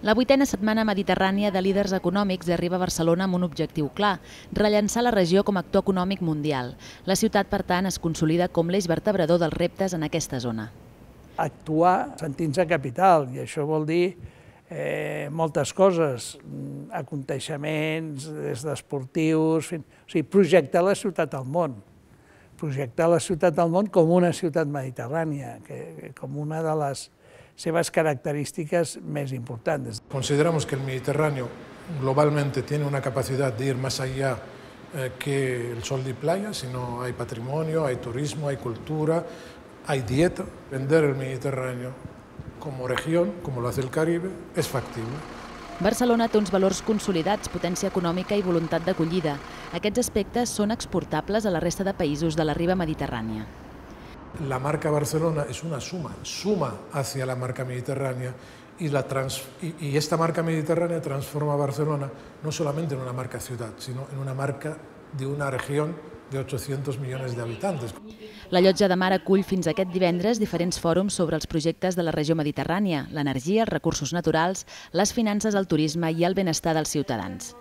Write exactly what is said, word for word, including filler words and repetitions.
La vuitena setmana mediterrània de líders econòmics arriba a Barcelona amb un objectiu clar, rellançar la regió com a actor econòmic mundial. La ciutat, per tant, es consolida com l'eix vertebrador dels reptes en aquesta zona. Actuar sentint-se capital, i això vol dir eh, moltes coses, aconteixements, des d'esportius, o sigui, projectar la ciutat al món. Projectar la ciutat al món com una ciutat mediterrània, que, com una de les seves características más importantes. Consideramos que el Mediterráneo globalmente tiene una capacidad de ir más allá eh, que el sol y playa, sino hay patrimonio, hay turismo, hay cultura, hay dieta. Vender el Mediterráneo como región, como lo hace el Caribe, es factible. Barcelona té uns valors consolidats, potència econòmica i voluntat d'acollida. Aquests aspectes són exportables a la resta de països de la riba mediterrània. La marca Barcelona es una suma, suma hacia la marca mediterránea y, la trans, y, y esta marca mediterránea transforma a Barcelona no solamente en una marca ciudad, sino en una marca de una región de ochocientos millones de habitantes. La Llotja de Mar acull fins aquest divendres diferents fòrums sobre els projectes de la regió mediterrània, l'energia, els recursos naturals, les finances, el turisme i el benestar dels ciutadans.